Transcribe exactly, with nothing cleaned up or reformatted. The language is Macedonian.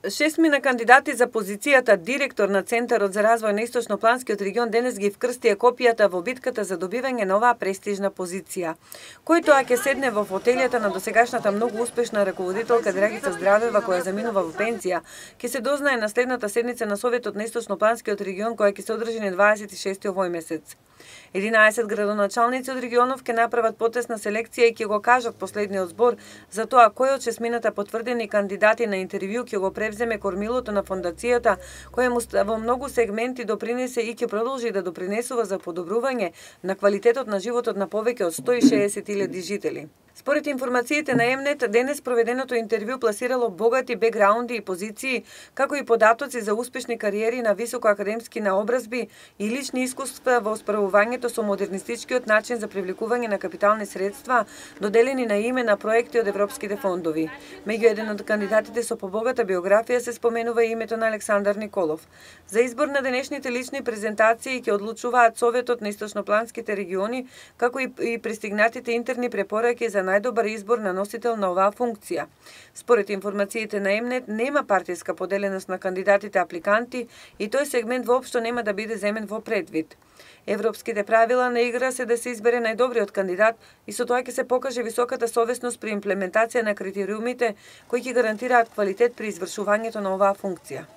Шестмина кандидати за позицијата директор на Центарот за развој на Источнопланскиот регион денес ги вкрстија копијата во битката за добивање на оваа престижна позиција. Кој тоа ќе седне во фотелјата на досегашната многу успешна раководителка Драгица Здравева, која заминува во пензија, ќе се дознае на следната седница на Советот на Источнопланскиот регион, која ќе се одржи на дваесет и шести овој месец. единаесет градоначалници од регионов ќе направат потесна селекција и ќе го кажат последниот збор за тоа кој од шестмината потврдени кандидати на интервју ќе го превземе кормилото на фондацијата, која му во многу сегменти допринесе и ќе продолжи да допринесува за подобрување на квалитетот на животот на повеќе од сто и шеесет илјади жители. Според информациите на Емнет, денес проведеното интервју пласирало богати бекграунди и позиции, како и податоци за успешни кариери на високоакадемски наобразби и лични искуства во справувањето со модернистичкиот начин за привлекување на капитални средства, доделени на име на проекти од европските фондови. Меѓу еден од кандидатите со побогата биографија се споменува името на Александар Николов. За избор на денешните лични презентации ќе одлучуваат Советот на Источнопланските региони, како и пристигнатите интерни препораки за најдобар избор на носител на оваа функција. Според информациите на Емнет, нема партиска поделеност на кандидатите апликанти и тој сегмент воопшто нема да биде земен во предвид. Европските правила на игра се да се избере најдобриот кандидат и со тоа ќе се покаже високата совесност при имплементација на критериумите кои ќе гарантираат квалитет при извршувањето на оваа функција.